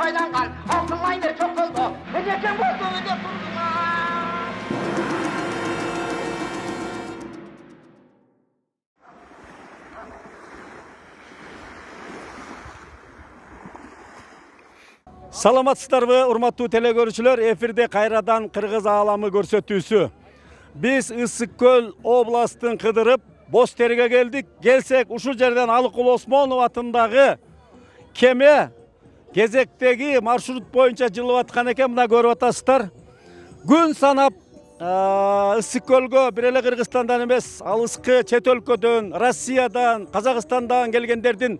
байланган. Алтын лайнер çok oldu. Necem oldu öyle kurdular. Саламатсыздарбы, урматтуу телекөрүүчүлөр, эфирде кайрадан Кыргыз ааламы көрсөтүүсү. Биз Ысык Көл областын кыдырып, Боз Терге келдик. Келсек, ушул жерден Алыкул Осмонов атындагы кеме кезектеги маршрут боюнча жылып аткан экен. Мына көрүп атасыздар. Күн санап Ысык Көлгө бир эле Кыргызстандан эмес, алыскы чет өлкөдөн, Россиядан, Казакстандан келгендердин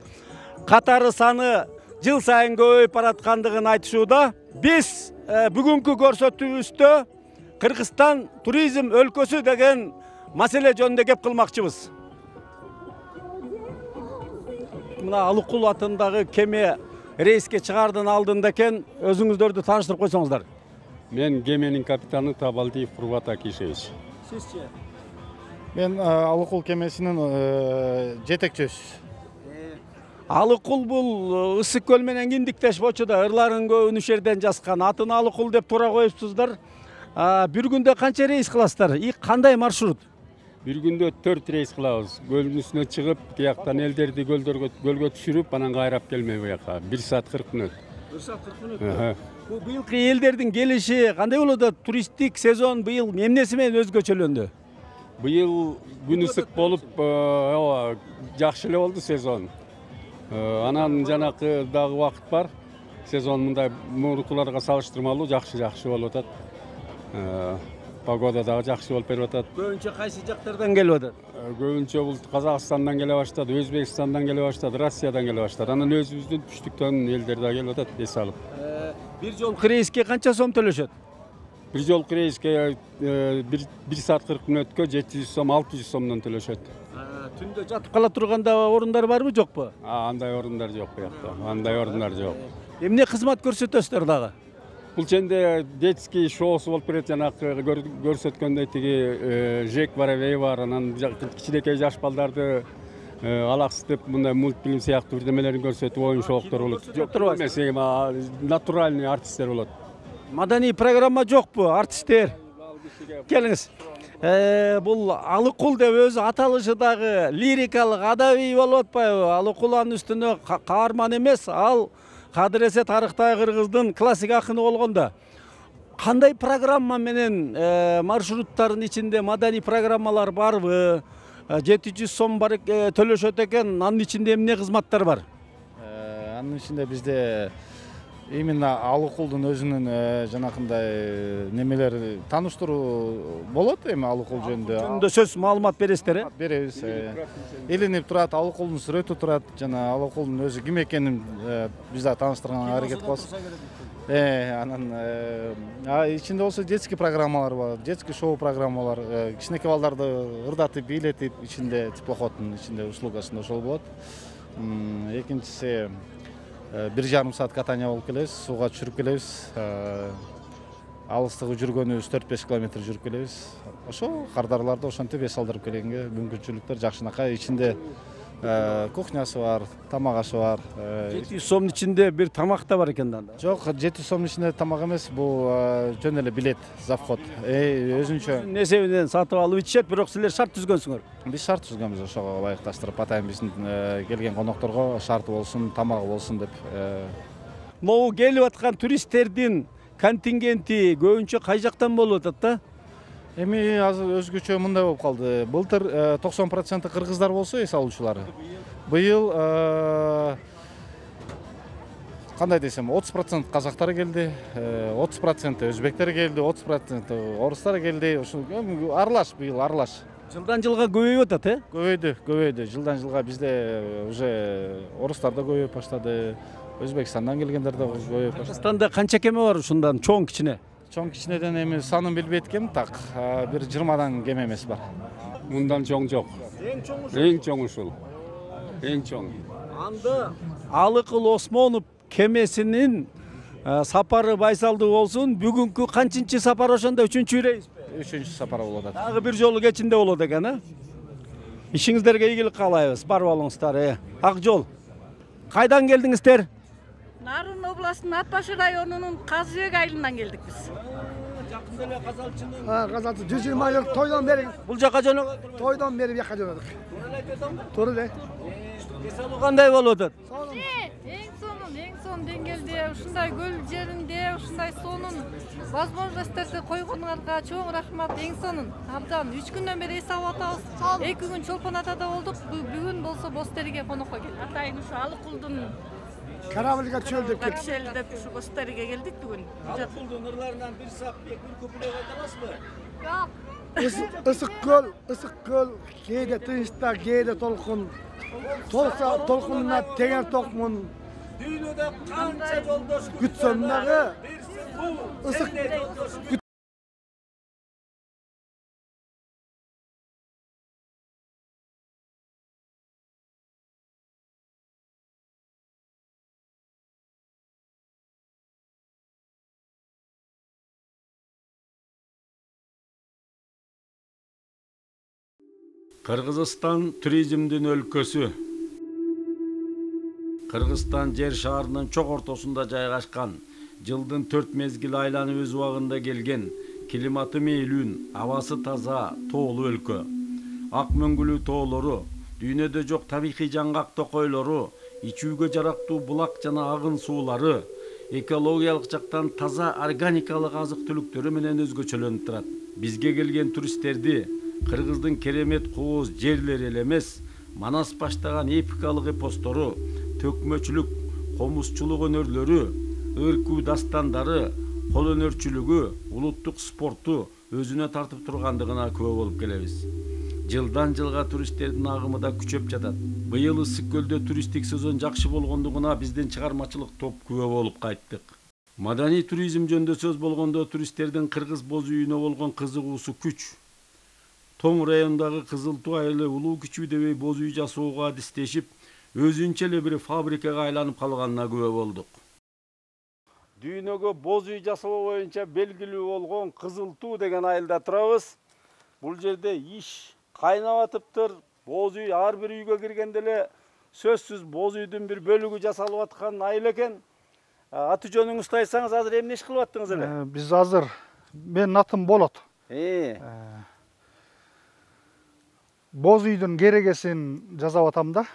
катары саны жыл сайын көбөйүп бараткандыгын айтышууда. Биз бүгүнкү көрсөтүүбүздө Кыргызстан туризм өлкөсү деген маселе жөнүндө кеп кылмакчыбыз. Мына Алыкул атындагы кеме рейске чыгаардын алдында экен. Өзүңүздөрдү тааныштырып койсоңуздар. Мен кеменин капитаны Табалдиев Курбат Акишевич. Сизчи? Мен Алыкул кемесинин жетекчиси. Алыкул бул Ысык Көл менен киндиктеш бочуда, ырларын көбүн ушул жерден жазган. Атын Алыкул деп туура коюпсуздар. Бир күндө канча рейс кыласыздар? И кандай маршрут? Бир күндө 4 рейс кылабыз. Көлдүн үстүнө чыгып, тияктан элдерди көлгө түшүрүп, анан кайрап келмей буяка. 1 саат 40 мүнөт. 1 саат 40 мүнөт. Бул быйылкы элдердин келиши кандай болот? Туристтик сезон быйыл эмнеси менен өзгөчөлөндү? Быйыл күн ысык болуп, жакшы эле болду сезон. Анан жанакы дагы убакыт бар. Сезон мындай мурункуларга салыштырмалуу жакшы болуп атат. Погода дагы жакшы болуп берип атат. Көбүнчө кайсы жактардан келип атат? Көбүнчө бул Казакстандан келе баштады, Өзбекстандан келе баштады, Россиядан келе баштады. Анан өзүбүздүн түштүктөн элдер да келип атат, эс алып. Бир жолку рейске канча сом төлөшөт? Бир жолку рейске 1 саат 40 мүнөткө 700 сом, 600 сомдон төлөшөт. Түндө жатып кала турганда орундар барбы, жокпу? Андай орундар жок буякта. Андай орундар жок. Эмне кызмат көрсөтөсүздөр дагы? Бул жерде детский шоусу болуп берет, жанакы көрсөткөндөй тиги Жек бар, Эвей бар, анан кичинекей жаш балдарды алаксытып мындай мультфильм сыяктуу бирдемелерин көрсөтүп оюн шоуктор болот. Жок эмес, натуральный артисттер болот. Маданий программа жокпу, артисттер? Келиңиз. Бул Алыкул деп өзү аталышы дагы лирикалык, адабий болуп атпайбы? Алыкул анын үстүнө каарман эмес, ал кадыресе тарыхтагы кыргыздын классик акыны болгондо. Кандай программа менен маршруттардын ичинде маданий программалар барбы? 700 сом бар төлөшөт экен. Анын ичинде эмне кызматтар бар? Анын ичинде бизде именно Алыкулдун өзүнүн жанакындай немелери тааныштыруу болот. Эми Алыкул жөнүндө Жөнүндө сөз маалымат бересиздер, беребиз. Илинип турат, Алыкулдун сүрөтү турат, жана Алыкулдун өзү ким экенин биз да тааныштырганга аракет кылабыз. Анан ичинде болсо детский программалар бар, детский шоу программалар, кичинекей балдарды ырдатып, бийлетип, ичинде теплоходдун ичинде услугасында ошол болот. Экинчиси 1,5 саат катание болуп келебиз, сууга түшүрүп келебиз. Алыстыгы жүргөнүбүз 4-5 километр жүрүп келебиз. Ошо кардарларды ошентип эс алдырып келгенге мүмкүнчүлүктөр жакшынакай. Ичинде кухнясы бар, тамак ашы бар. 700 сомдун ичинде бир тамак да бар экен да. Жок, 700 сомдун ичинде тамак эмес, бул жөн эле билет, завход. Өзүнчө эсебинен сатып алып ичишет, бирок силер шарт түзгөнсүңөр. Биз шарт түзгөнбүз ошого ылайыкташтырып, атайын биздин келген конокторго шарты болсун, тамагы болсун деп. Могу келип аткан туристтердин контингенти көбүнчө кай жактан болуп атат да? Эми азыр өзгөчө мындай болуп калды. Былтыр 90% кыргыздар болсо эс алуучулар. Быйыл кандай десем, 30% казактар келди, 30% өзбектер келди, 30% орустар келди. Ошо аралаш, быйыл аралаш. Жылдан жылга көбөйүп атат, Көбөйдү. Жылдан жылга бизде уже орустар да көбөйүп баштады. Өзбекстандан келгендер да көбөйүп баштады. Кыргызстанда канча кеме бар ушундан, чоң кичине? Чоң кичинеден эми санын билбейт экенмин, так бир 20дан кем эмес бар. Мындан чоң жок. Эң чоң ушул. Эң чоң. Анда Алыкул Осмонов кемесинин сапары байсалдуу болсун. Бүгүнкү канчынчы сапар ошондо? 3-чү рейс? 3-чү сапар болуп атат. Дагы бир жолу кечинде болот экен, а? Ишиңиздерге ийгилик каалайбыз. Барып алыңыздар. Ак жол. Кайдан келдиңиздер? Нарын областынын Ат Башы районунун Казыбек айылынан келдик биз. Жакында эле казалчынын Казалчы 120 жыл тойдон бери бул жака жөнөгөн. тойдон бери бияка жөнөдүк. Туура эле айтып атамбы? Туура эле. Эс алуу кандай болуп атат? Эң сонун деңгээлде ушундай көл жеринде ушундай сонун возможностьторду койгонуңарга чоң рахмат. Эң сонун. Абдан 3 күндөн бери эс алып атабыз. 2 күн Чолпон атада болдук. Бүгүн болсо Бостериге конокко келдик. Атайын ушу Алыкулдун Корабльга чөлдөп келдик. капшелдеп ушу Бостериге келдик бүгүн. Алыкулдун ырларынан бир сап, бир көпүлөп айта аласызбы? Ысык көл, кээде тынчта, кээде толкун. Толкунуна теңер токмун. Дүйнөдө канча жолдош Күтсөм дагы ысык Кыргызстан туризмдин өлкөсү. Кыргызстан жер шаарынын чок ортосунда жайгашкан, жылдын 4 мезгил айланып өз убагында келген, климаты мейлүүн, абасы таза, тоолуу өлкө. Ак мөңгүлүү тоолору, дүйнөдө жок табигый жаңгак токойлору, ичүүгө жарактуу булак жана агын суулары, экологиялык жактан таза органикалык азык-түлүктөрү менен өзгөчөлөнүп турат. Бизге келген туристтерди Кыргыздын керемет кооз жерлери эле эмес, Манас баштаган эпикалык эпостору, төкмөчүлүк, комузчулук өнөрлөрү, ыркуу дастандары, кол өнөрчүлүгү, улуттук спорту өзүнө тартып тургандыгына күбө болуп келебиз. Жылдан жылга туристтердин агымы да күчөп жатат. Быйыл Ысык көлдө туристтик сезон жакшы болгондугуна биздин чыгармачылык топ күбө болуп кайттык. Маданий туризм жөнүндө сөз болгондо туристтердин кыргыз боз үйүнө болгон кызыгуусу күч. Тоң райондагы Кызыл Туу айылы улуу күчүү дебей боз үй жасоого адистешип, өзүнчө эле бир фабрикага айланып калганына күбө болдук. Дүйнөгө боз үй жасоо боюнча белгилүү болгон Кызыл Туу деген айылда турабыз. Бул жерде иш кайнап атыптыр. Боз үй ар бир үйгө киргенде эле сөзсүз боз үйдүн бир бөлүгү жасалып аткан айыл экен. Аты жөнүңүздү айтсаңыз, азыр эмне иш кылып аттыңыз эле? Биз азыр менин атым Болот. Боз үйдүн керегесин жасап атам да.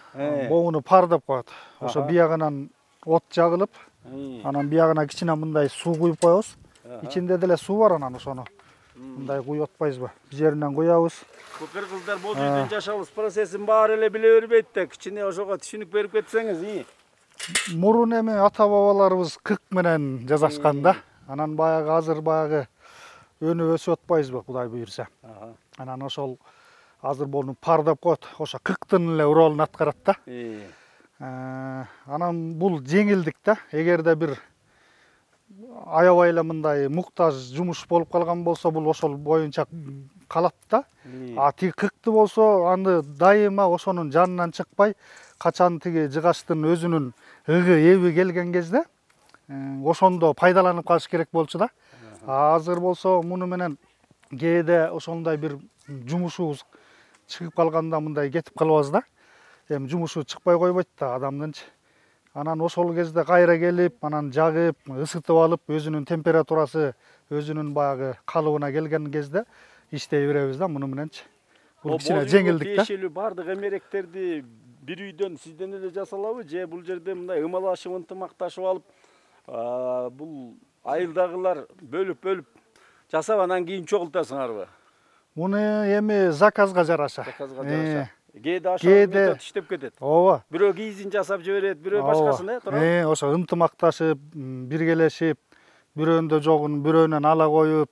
Богуну пардап коет. Ошо биягынан от жагылып, анан биягына кичине мындай суу куюп коебуз. Ичинде деле суу бар, анан ошону мындай куюп атпайбызбы? Биз жеринен куябыз. Бул кыргыздар боз үйдүн жашалыш процессин баары эле биле бербейт да, кичине ошого түшүнүк берип кетсеңиз. Мурун эми ата бабаларыбыз кырк менен жасашкан да. Анан баягы азыр баягы өнүп өсүп атпайбызбы, Кудай буйрса. Анан ошол азыр буну пардап коет. Ошо кырктын эле ролун аткарат да. Анан бул жеңилдик да. Эгерде бир аябай эле мындай муктаж жумуш болуп калган болсо, бул ошол боюнча калат да. Тиги кыркты болсо, аны дайыма ошонун жанынан чыкпай, качан тиги жыгачтын өзүнүн ыгы эби келген кезде ошондо пайдаланып калыш керек болчу да. Азыр болсо муну менен кээде ошондой бир жумушубуз чыгып калганда мындай кетип калабыз да. Эми жумушу чыкпай койбойт да адамдынчы. Анан ошол кезде кайра келип, анан жагып, ысытып алып, өзүнүн температурасы, өзүнүн баягы калыбына келген кезде иштей беребиз да муну мененчи. Бул кичине жеңилдик да. Тиешелүү бардык эмеректерди бир үйдөн сизден эле жасалабы, же бул жерде мындай ымалашып, ынтымакташып алып, бул айылдагылар бөлүп жасап анан кийин чогултасыңарбы? Муну эми заказга жараша. Кээде ашып иштеп кетет. Ооба. Бирөө кийизин жасап жиберет, бирөө башкасын, туура? Ошо ынтымакташып, биргелешип, бирөөнүндө жогун бирөөнөн ала коюп,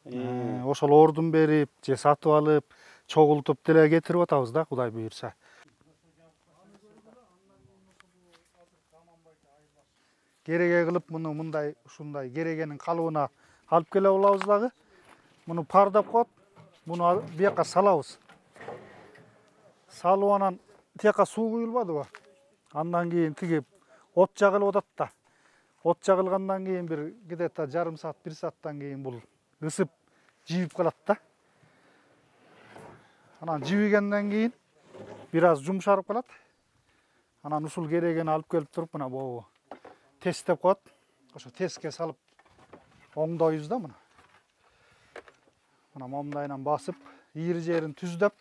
ошол ордун берип, же сатып алып, чогултуп деле кетирип атабыз да, Кудай буйрса. Кереге кылып муну мындай ушундай керегенин калыбына алып келе алабыз дагы. Муну пардап коет. Муну бияка салабыз. Салып анан тияка суу куюлбадыбы? Андан кийин тиги от жагылып атат да. От жагылгандан кийин бир где-то жарым саат, 1 сааттан кийин бул ысып, жибип калат да. Анан жибигенден кийин бир аз жумшарып калат. Анан ушул керегени алып келип туруп, мына могу тест деп коет. Ошо тестке салып оңдойбуз да мына. Мына момдайынан басып, ийри жерин түздөп,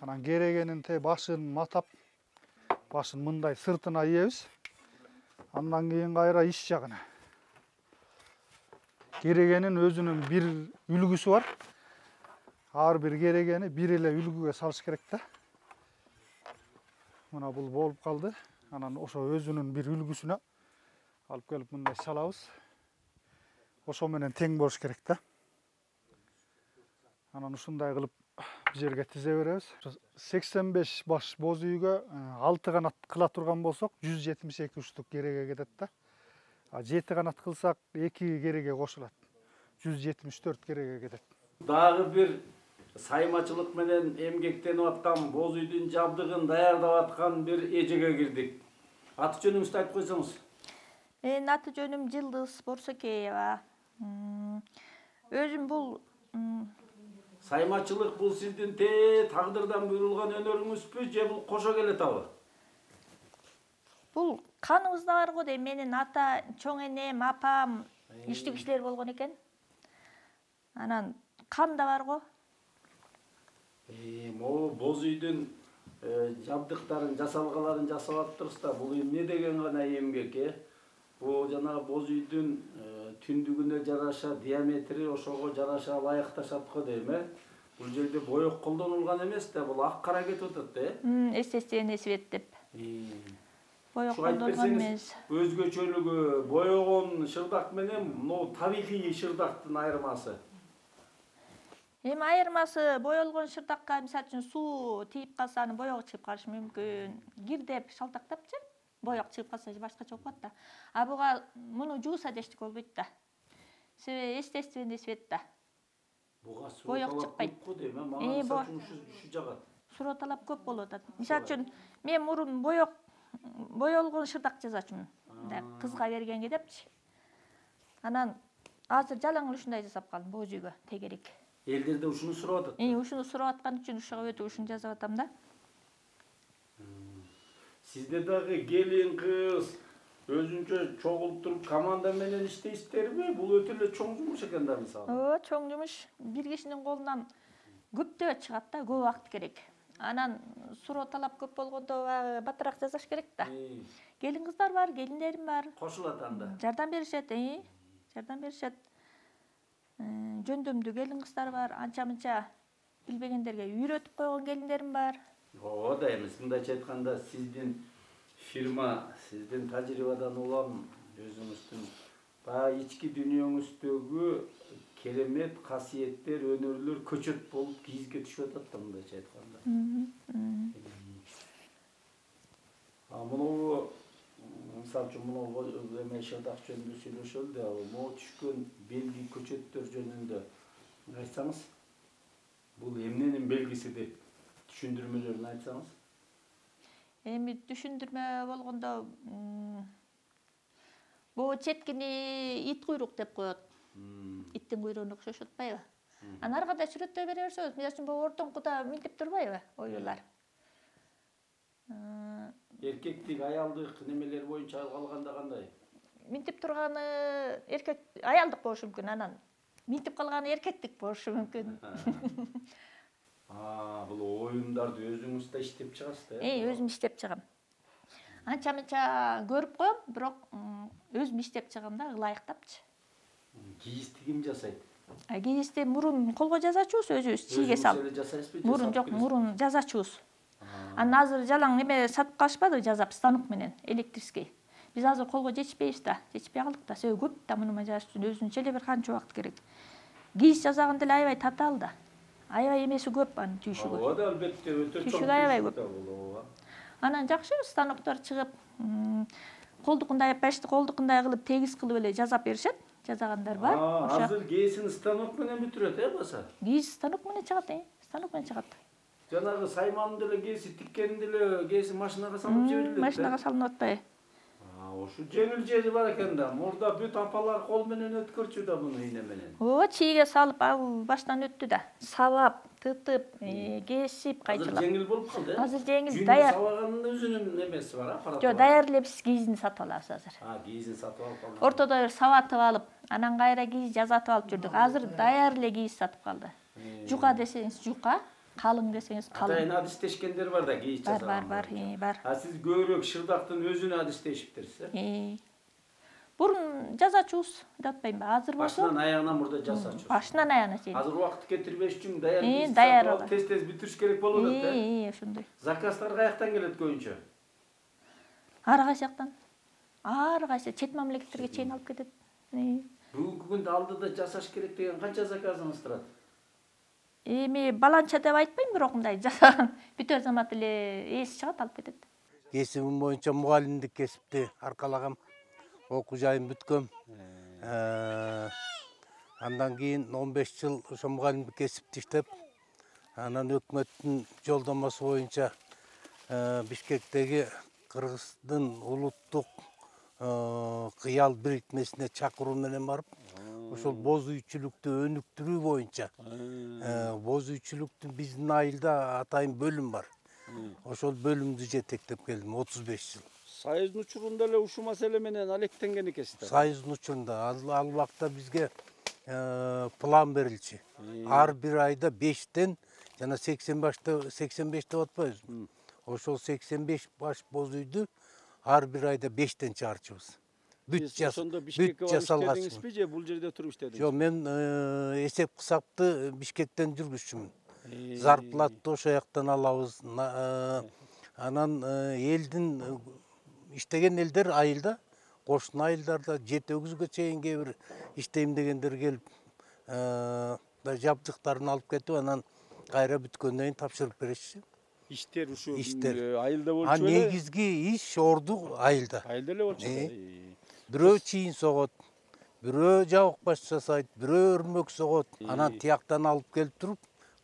анан керегенин башын матап, башын мындай сыртына ийебиз. Андан кийин кайра иш жагына. Керегенин өзүнүн бир үлгүсү бар. Ар бир керегени бир эле үлгүгө салыш керек да. Мына бул болуп калды. Анан ошо өзүнүн бир үлгүсүнө алып келип мындай салабыз. Ошо менен тең болуш керек да. Анан ушундай кылып бул жерге тизе беребиз. 85 баш боз үйгө 6 канат кыла турган болсок 172 уштук кереге кетет да. 7 канат кылсак 2 кереге кошулат. 174 кереге кетет. Дагы бир саймачылык менен эмгектенип аткан боз үйдүн жабдыгын даярдап аткан бир эжеге кирдик. Аты жөнүңүздү айтып койсоңуз. Менин аты жөнүм Жылдыз Борсокеева. Өзүм бул Саймачылык бул сиздин тагдырдан буйрулган өнөрүңүзбү же бул кошо келетабы? бул каныбызда бар го дейм. Менин ата, чоң энем, апам иштүү кишилер болгон экен. Анан кан да бар го. Могу боз үйдүн жабдыктарын, жасалгаларын жасап атыптырсыз да. Бул эмне деген гана эмгек, Бул жанагы боз үйдүн түндүгүнө жараша, диаметри ошого жараша ылайыкташат го дейм, Бул жерде боек колдонулган эмес да, бул ак кара кетип атат да, Естественный свет деп. Боек Ушуга айтып колдонгон берсеңиз, эмес. өзгөчөлүгү боегон шырдак менен мына табигый шырдактын айырмасы. Эми айырмасы боелгон шырдакка мисалы үчүн суу тийип калса анын боегу чыгып калышы мүмкүн. Кирдеп шалтактапчы, боек чыгып калса же башкача болуп калат да. А буга муну жууса да эчтеке болбойт да. Себеби естественный свет да. Буга Боек суу чыкпайт. көп го дейм, мага ушу жагат. Суроо талап көп болуп атат. Мисалы үчүн мен мурун боелгон шырдак жасачумун. Кызга бергенге депчи. Анан азыр жалаң эле ушундай жасап калдым боз үйгө тегерек. Элдер да ушуну сурап атат. Ушуну сурап аткан үчүн ушуга өтүп ушуну жасап атам да. Сизде дагы келин кыз өзүнчө чогулуп туруп команда менен иштейсиздерби? Бул өтө эле чоң жумуш экен да мисалы. Ооба, чоң жумуш. Бир кишинин колунан көптөө чыгат да, көп убакыт керек. Анан суроо талап көп болгондо батыраак жасаш керек да. Келин кыздар бар, келиндерим бар. Кошулат анда. Жардам беришет, жардам беришет. Жөндөмдүү келин кыздар бар, анча-мынча билбегендерге үйрөтүп койгон келиндерим бар. Ооба да, эми мындайча айтканда сиздин фирма, сиздин тажрыйбадан улам өзүңүздүн баягы ички дүйнөңүздөгү керемет касиеттер, өнөрлөр көчөт болуп кийизге түшүп атат да мындайча айтканда. Муну мисалы үчүн муну эме шырдак жөнүндө сүйлөшөлү да, могу түшкөн белги көчөттөр жөнүндө айтсаңыз, бул эмненин белгиси деп түшүндүрмөлөрүн айтсаңыз. Эми түшүндүрмө болгондо бул четкини ит куйрук деп коет. Иттин куйругуна окшошуп атпайбы? Анан ар кандай сүрөттөй бере берсеңиз, мисалы үчүн бул ортоңкуда минтип турбайбы оюлар? Эркектик, аялдык немелер боюнча алганда кандай? Минтип турганы эркек, аялдык болушу мүмкүн, анан минтип калганы эркектик болушу мүмкүн. Бул оюндарды өзүңүз да иштеп чыгасыз да? Өзүм иштеп чыгам. Анча-мынча көрүп коем, бирок өзүм иштеп чыгам да, ылайыктапчы. Кийизди ким жасайт? Кийизди мурун колго жазачубуз, өзүбүз чийге салып. Өзүңүз эле жасайсызбы? Мурун жок, мурун жазачубуз. Анан азыр жалаң неме сатып калышпадыбы, жазап станок менен, электрический. Биз азыр колго жетишпейбиз да, жетишпей калдык да, себеби көп да муну жазаш үчүн өзүнчө эле бир канча убакыт керек. Кийиз жасаганда эле аябай татаал да. Аябай эмеси көп анын түйшүгү. Ооба да, албетте, өтө чоң. Түйшүгү аябай көп. Анан жакшы станоктор чыгып, колдукундай аппашты колдукундай кылып, тегиз кылып эле жазап беришет. Жазагандар бар. Азыр кээсин станок менен бүтүрөт, баса? Кийиз станок менен чыгат, станок менен чыгат. Жанагы сайманын деле кээси, тиккенин деле кээси машинага салып жиберилет. Машинага салынып атпайбы? Ошо жеңил жери бар экен да. Мурда бүт апалар кол менен өткөрчү да муну ийне менен. Ооба, чийге салып ал баштан өттү да. Сабап, тытып, кесип кайчылап. Азыр жеңил болуп калды. Азыр жеңил, даяр. Сабаганын өзүнүн эмеси бар, аппараты. Жок, даяр эле биз кийизин сатып алабыз азыр. Кийизин сатып алып калдык. Ортодо бир сабатып алып, анан кайра кийиз жасатып алып жүрдүк. Азыр даяр эле кийиз сатып калды. Жука десеңиз жука, калың десеңиз калың. Атайын адистешкендер бар да кийиз жасаган. Бар. Сиз көбүрөөк шырдактын өзүнө адистешиптирсиз, Бурун жасачубуз, деп атпаймынбы? Азыр болсо башынан аягына мурда жасачубуз. башынан аягына чейин. Азыр убакыт кетирбеш үчүн даяр кийиз даяр сатып алып тез бүтүрүш керек болуп атат, ошондой. Заказдар каяктан келет көбүнчө? Ар кайсы чет мамлекеттерге чейин алып кетет. Бүгүнкү күндө алдыда жасаш керек деген канча заказыңыз турат? Эми баланча деп айтпайм, бирок мындай жасаган бүтө замат эле эси чыгат, алып кетет. Кесибим боюнча мугалимдик кесипти аркалагам. Окуу жайым бүткөм. Андан кийин 15 жыл ошо мугалимдик кесипти иштеп, анан өкмөттүн жолдомосу боюнча Бишкектеги Кыргыздын улуттук кыял бирикмесине чакыруу менен барып, ошол боз үйчүлүктү өнүктүрүү боюнча, боз үйчүлүктүн биздин айылда атайын бөлүм бар. Ошол бөлүмдү жетектеп келдим 35 жыл. Союздун учурунда эле ушул маселе менен алектенген экенсиздер. Союздун учурунда ал убакта бизге план берилчү. Ар бир айда 5тен жана 85 деп атпайбызбы? Ошол 85 баш боз үйдү ар бир айда 5тен чыгарчубуз. Бүт жасалган. Же бул жерде туруп иштедиңиз? Жок, мен эсеп кысапты Бишкектен жүргүзчүмүн. Зарплатты ошо жактан алабыз. Анан элдин иштеген элдер айылда, кошуна айылдарда 7-8гө чейин кээ бир иштейм дегендер келип, жабдыктарын алып кетип, анан кайра бүткөндөн кийин тапшырып беришчи. Иштер ушу айылда болчу эле? Негизги иш орду айылда. Айылда эле болчу. Бирөө чийин согот, бирөө жабык баш жасайт, бирөө өрмөк согот. Анан тияктан алып келип туруп,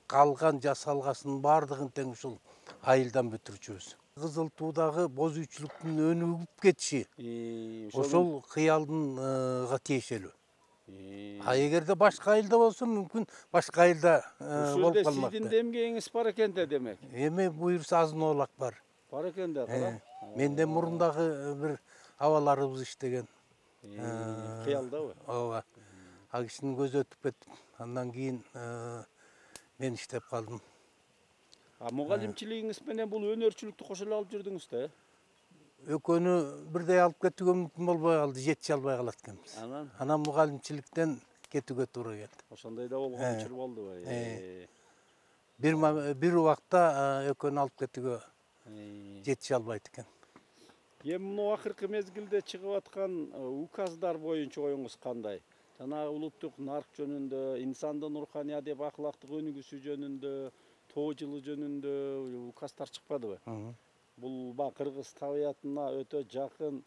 калган жасалгасынын баардыгын тең ушул айылдан бүтүрчүбүз. Кызыл Туудагы боз үйчүлүктүн өнүгүп кетиши ошол кыялдынга тиешелүү. Эгерде башка айылда болсо мүмкүн башка айылда болуп калмак. Сиздин демгегиңиз бар экен да, демек. Эми буюрса азын-оолак бар. Бар экен да, кара. Менден мурундагы бир абаларыбыз иштеген. Кыялдабы? Ооба. Ал кишинин көзү өтүп кетип, андан кийин мен иштеп калдым. Мугалимчилигиңиз менен бул өнөрчүлүктү кошо эле алып жүрдүңүз да? Экөөнү бирдей алып кетүүгө мүмкүн болбой калды, жетиши албай калат экенбиз. Анан мугалимчиликтен кетүүгө туура келди. Ошондой да болгон учур болдубу? Бир убакта экөөнү алып кетүүгө жетиши албайт экен. Эми мына акыркы мезгилде чыгып аткан указдар боюнча оюңуз кандай? Жанагы улуттук нарк жөнүндө, инсандын руханий адеп акылактык өнүгүүсү жөнүндө, тоо жылы жөнүндө указдар чыкпадыбы? Бул кыргыз табиятына өтө жакын,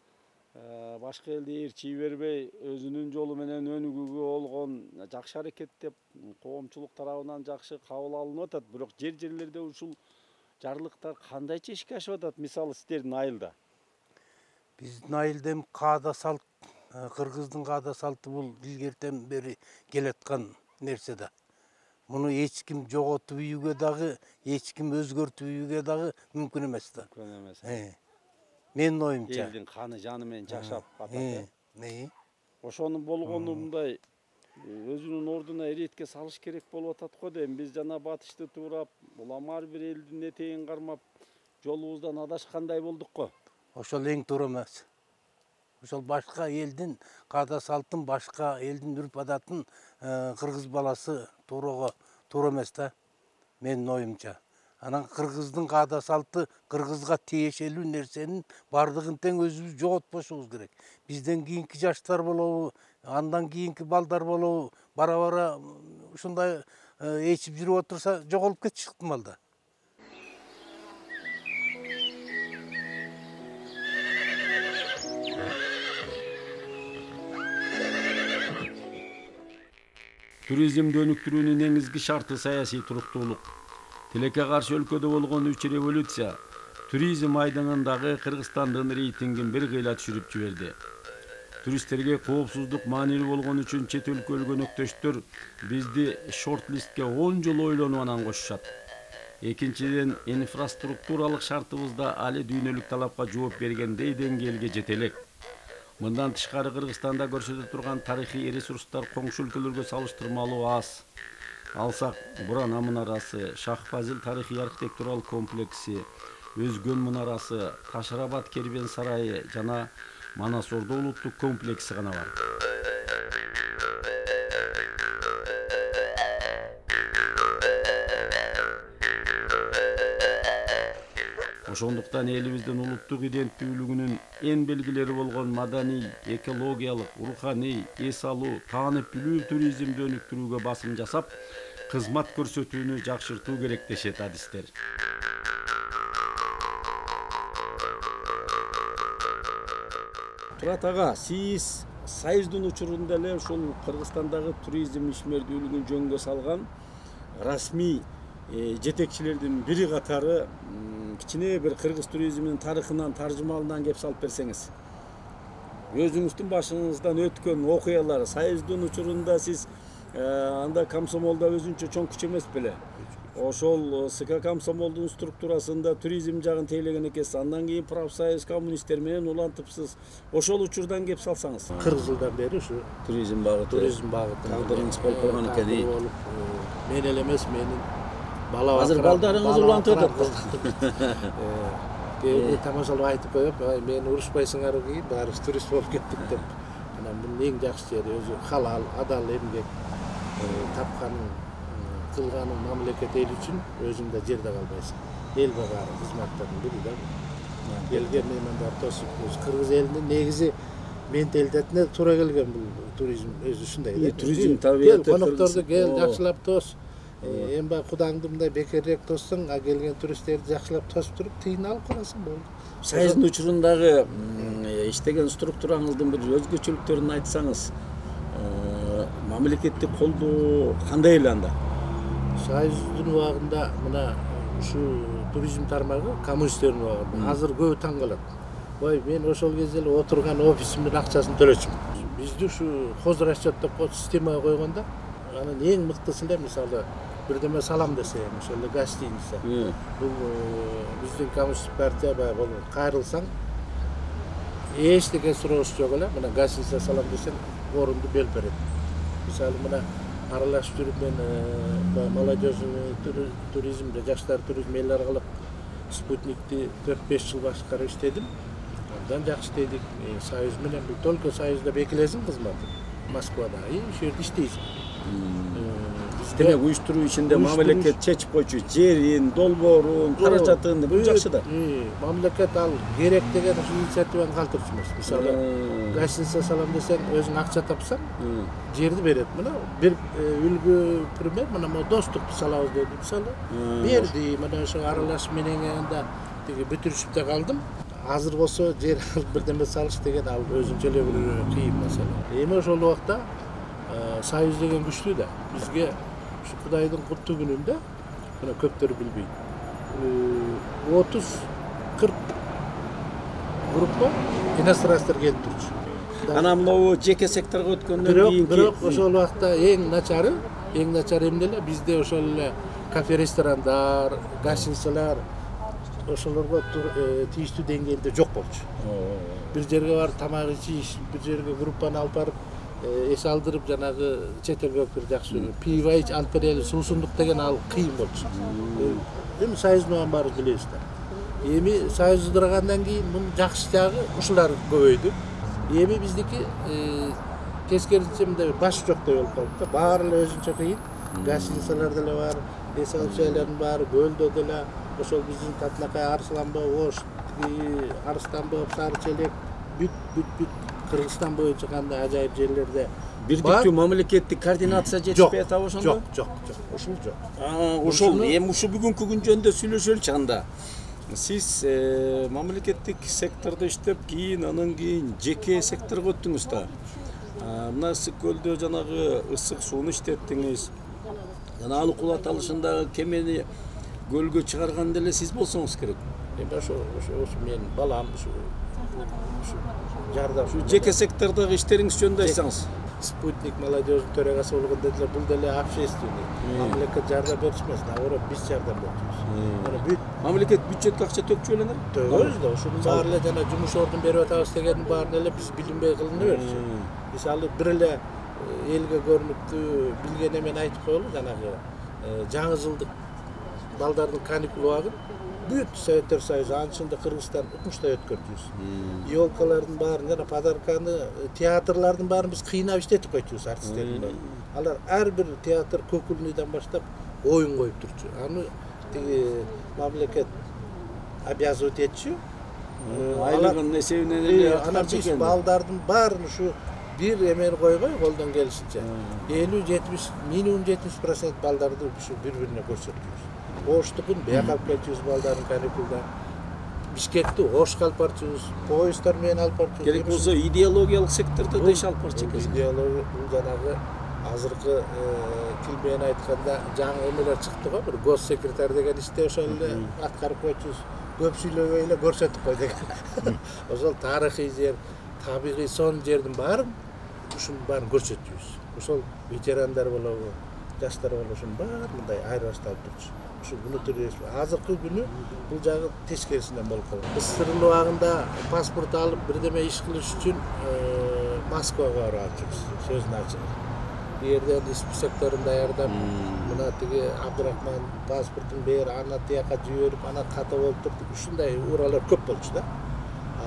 башка элди ээрчий бербей, өзүнүн жолу менен өнүгүүгө болгон жакшы аракет деп коомчулук тарабынан жакшы кабыл алынып атат. Бирок жерлерде ушул жарлыктар кандайча ишке ашып атат? Мисалы сиздердин айылда. Биздин айылда эми каада салт, кыргыздын каада салты бул илгертен бери келаткан нерсе да. Муну эч ким жоготуп үйгө дагы, эч ким өзгөртүп үйгө дагы мүмкүн эмес да. Мүмкүн эмес. Менин оюмча. Элдин каны жаны менен жашап атат. Ошонун болгону мындай өзүнүн ордуна эретке салыш керек болуп атат го дейм. Биз жана батышты туурап, улам ар бир элдин этегин кармап, жолубуздан адашкандай болдук го. Ошол эң туура эмес. Ошол башка элдин каада салтын, башка элдин үрп адатын кыргыз баласы туура эмес да, менин оюмча. Анан кыргыздын каада салты кыргызга тиешелүү нерсенин бардыгын тең өзүбүз жоготпошубуз керек. Бизден кийинки жаштар болобу, андан кийинки балдар болобу, бара-бара ушундай ээчип жүрүп отурса жоголуп кетиши ыктымал да. Туризмди өнүктүрүүнүн негизги шарты саясий туруктуулук. Тилекке каршы өлкөдө болгон 3 революция туризм айдыңындагы Кыргызстандын рейтингин бир кыйла түшүрүп жиберди. Туристтерге коопсуздук маанилүү болгон үчүн чет өлкө өнөктөштөр бизди шорт-листке 10 жыл ойлонуп анан кошушат. Экинчиден, инфраструктуралык шартыбызда али дүйнөлүк талапка жооп бергендей деңгээлге жете элек. Мындан тышкары Кыргызстанда көрсөтө турган тарыхый ресурстар коңшу өлкөлөргө салыштырмалуу аз. Алсак, Буран мунарасы, Шах-Фазил тарыхый архитектуралык комплекси, Өзгөн мунарасы, Ташырабад кербен сарайы жана Манас Ордо улуттук комплекси гана бар. Ошондуктан элибиздин улуттук иденттүүлүгүнүн эң белгилери болгон маданий, экологиялык, руханий, эс алуу, таанып билүү туризмди өнүктүрүүгө басым жасап, кызмат көрсөтүүнү жакшыртуу керек дешет адистер. Турат ага, сиз Союздун учурунда эле ушул Кыргызстандагы туризм ишмердүүлүгүн жөнгө салган расмий жетекчилердин бири катары кичине бир кыргыз туризминин тарыхынан, таржымалынан кеп салып берсеңиз. Өзүңүздүн башыңыздан өткөн окуялар, Союздун учурунда сиз анда комсомолдо өзүнчө чоң күч эмес беле? Ошол СК комсомолдун структурасында туризм жагын тейлеген экенсиз. Андан кийин профсоюз коммунисттер менен улантыпсыз. Ошол учурдан кеп салсаңыз. 40 жылдан бери ушу туризм багыты. Тагдырыңыз болуп калган экен. Мен эле эмес, менин бала азыр балдарыңыз улантып атат. Кээ тамашалап айтып коюп, мени урушпайсыңар кийин баарыбыз турист болуп кеттик деп. Анан бунун эң жакшы жери өзү халал, адал эмгек, тапканын, кылганын мамлекет эл үчүн өзүңдө жерде калбайсың. Элге баары кызматтардын бири да. Келген меймандар тосуп, кыргыз элинин негизи менталитетине туура келген бул туризм өзү ушундай да. Туризм табиаты конокторду кел, жакшылап тос. Эми баягы кудаңды мындай бекерирээк тоссоң, а келген туристтерди жакшылап тосуп туруп тыйын алып каласың болду. Союздун учурундагы иштеген структураңыздын бир өзгөчөлүктөрүн айтсаңыз, мамлекеттик колдоо кандай эле анда? Союздун убагында мына ушу туризм тармагы коммунисттердин убагында азыр көбү таң калат. Ой, мен ошол кезде эле отурган офисимдин акчасын төлөчүм. Бизди ушу хозрасчет деп системага койгондо, анын эң мыктысы эле мисалы бирдеме салам десе, ошол эле гостиница. Бул биздин коммунисттик партия баягы кайрылсаң эчтеке суроош жок эле, мына гостиница салам десең орунду бөлүп берет. Мисалы мына аралашып жүрүп мен молодежный туризмде, жаштар туризми эл аралык спутникти 4-5 жыл башкарып иштедим. Андан жакшы иштедик. Союз менен бул только Союзда бекилесиң кызматы. Москвада, ошол жерде иштейсиң. Демек уюштуруу ичинде мамлекет чечип койчу жерин, долбоорун, каражатын бул жакшы да. Мамлекет ал керек деген инициативаны калтырчу эмес. Мисалы, гостиница салам десең, өзүң акча тапсаң, жерди берет. Мына бир үлгү пример, мына достук салабыз деди. Мисалы, берди, мына ошо аралашып менен анда тиги бүтүрүшүп да калдым. Азыр болсо жер бирдеме салыш деген ал өзүнчө эле бир кыйын маселе. Эми ошол убакта Союз деген күчтүү да. Бизге ушу Кудайдын куттуу күнүндө, мына көптөр билбейт. 30-40 группа иностранцтар келип турчу. Анан могу жеке секторго өткөндөн кийин бирок ошол убакта эң начары эмне эле бизде ошол эле кафе, ресторандар, гостиницалар ошолорго тийиштүү деңгээлде жок болчу. Бир жерге барып тамак ичиш, бир жерге группаны алып барып эс алдырып жанагы чет элге өкүр жакшы пиво ич, алып берели, суусундук деген ал кыйын болчу. Эми Союздун баары билебиз да. Эми Союз ыдырагандан кийин мунун жакшы жагы ушулар көбөйдү. Эми биздики тескерисинче мындай баш жоктой болуп калды да. Баары эле өзүнчө кыйын. Гостиницалар деле бар, эс алуу жайлардын баары көлдө деле, ошол биздин Татнакай, Арсланбоо, Ош, Арыстанбоо, Сары Челек, бүт Кыргызстан боюнча кандай ажайып жерлерде бирдиктүү мамлекеттик координация жетишпей атабы ошондо? Жок. Ушул жок. Ошол эми ушу бүгүнкү күн жөнүндө сүйлөшөлүчү анда. Сиз мамлекеттик сектордо иштеп, кийин анан кийин жеке секторго өттүңүз да. Мына Ысык көлдө жанагы ысык сууну иштеттиңиз. Жана алык кулат алышындагы кемени көлгө чыгарган деле сиз болсоңуз керек. Эми ошо мен балам ушу жардам. Şu жеке сектордагы иштериңиз жөнүндө айтсаңыз. Спутник молодежный төрагасы болгондо деле бул деле общественный. Мамлекет жардам беришмес, наоборот биз жардам беребиз. Мына бүт Мамлекет бюджетке акча төкчү белеңер? Төгөбүз да, ушунун баары эле жана жумуш ордун берип атабыз дегендин баарын эле биз билинбей кылына берчү. Мисалы бир эле элге көрүнүктүү билген эмени айтып коелу, жанагы жаңы жылдык балдардын каникул убагын бүт Советтер Союзу анчында Кыргызстан укмуштай өткөрдүбүз. Ёлкалардын баарын жана подарканы, театрлардын баарын биз кыйнап иштетип койчубуз артисттердин баарын. Алар ар бир театр көкүлнүйдөн баштап оюн коюп турчу. Аны тиги мамлекет обязывать этчү. Айлыгынын эсебинен эле Анан биз балдардын баарын ушу бир эмени койбой колдон келишинче 50-70 минимум 70% балдарды ушу бири-бирине көрсөтүбүз. Оштукун бияка алып келчүбүз балдардын каникулда. Бишкекти Ошко алып барчубыз, поезддар менен алып барчубыз. Керек болсо идеологиялык сектордо да иш алып барчу экенсиз. Идеология бул жанагы азыркы тил менен айтканда жаңы эмелер чыкты го, бир госсекретарь деген иште ошол эле аткарып койчубуз. Көп сүйлөбөй эле көрсөтүп кой деген. Ошол тарыхый жер, табигый сон жердин баарын ушунун баарын көрсөтүбүз. Ошол ветерандар болобу, жаштар болобу ушунун баары мындай айырбашталып турчу. Ушу внутрий азыркы күнү бул жагы тескерисинен болуп калган. СССРдын убагында паспорт алып бирдеме иш кылыш үчүн Москвага барып атчыбыз. Сөзүн ачык. Бу жерден списокторун даярдап, мына тиги Абдурахман паспортун бер, аны тияка жиберип, анан ката болуп турду. Ушундай ууралар көп болчу да.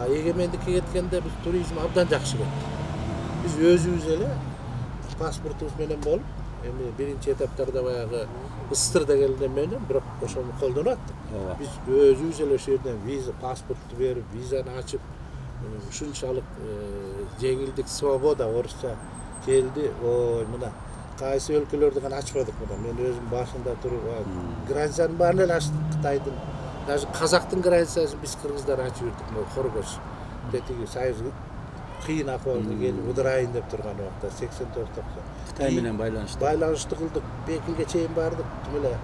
Эгемендикке кеткенде биз туризм абдан жакшы кетти. Биз өзүбүз эле паспортубуз менен болуп, эми биринчи этаптарда баягы СССРда келген менен, бирок ошону колдонуп аттык. Биз өзүбүз эле ошол жерден виза, паспортту берип, визаны ачып, ушунчалык жеңилдик, свобода орусча келди. Ой, мына кайсы өлкөлөрдү гана ачпадык мына. Мен өзүм башында туруп, границанын баарын эле ачтык, Кытайдын. Даже казактын границасын биз кыргыздар ачып жүрдүк, могу Хоргош. Тетиги Союз кыйын акыбалга келип удурайын деп турган убакта 84-та. Кытай менен байланышты кылдык, Пекинге чейин бардык. Тим эле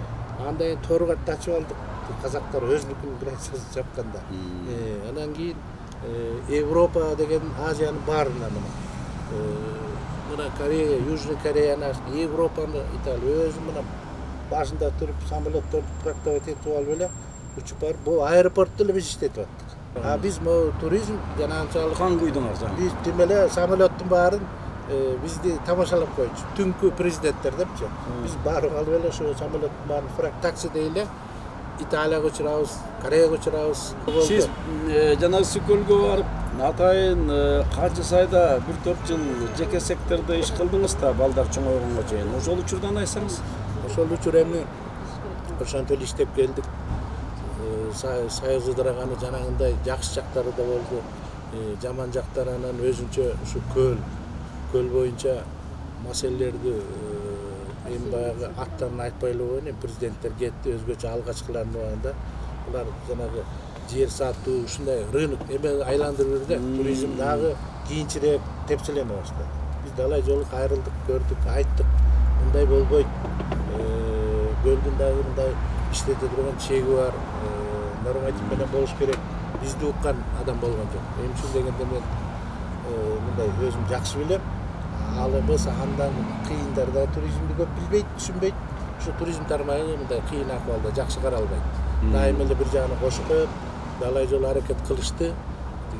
андай Торгатты ачып алдык. Казактар өзүнүкүнүн границасын чапканда. Анан кийин Европа деген Азиянын баарына мына Корея, Южный Кореяны, Европаны, Италия өзү мына башында туруп самолетторду трактовать этип алып эле учуп барып, бул аэропортто эле биз иштетип аттык. Биз могу туризм жана анчалык кан куйдуңар жаңы. Биз тим эле самолеттун баарын бизди тамашалап койчу. Түнкү президенттер депчи. Биз барып алып эле ошо самолеттун баарын фрак такси дейле Италияга учурабыз, Кореяга учурабыз. Сиз жанагы Сүкөлгө барып, атайын канча сайда 1-4 жыл жеке сектордо иш кылдыңыз да, балдар чоңойгонго чейин. Ошол учурдан айтсаңыз. Ошол учур эми ошентип эле иштеп келдик. Союз ыдыраганы жанагындай жакшы жактары да болду. Жаман жактары анан өзүнчө ушу көл боюнча маселелерди эми баягы аттарын айтпай эле коеюн, президенттер кетти, өзгөчө алгачкылардын убагында булар жанагы жер сатуу, ушундай рынок эме айландырып жүрдү. Туризм дагы кийинчерээк тепселене баштады. Биз далай жолу кайрылдык, көрдүк, айттык. Мындай болбойт. Көлдүн дагы мындай иштете турган чеги бар. Норматив менен болуш керек. Бизди уккан адам болгон жок. Эми ушун дегенде мен мындай өзүм жакшы билем. Ал эмес андан кыйындар да туризмди көп билбейт, түшүнбөйт. Ушу туризм тармагы мындай кыйын акыбалда жакшы каралбайт. Дайыма эле бир жагына кошуп коет, далай жолу аракет кылышты.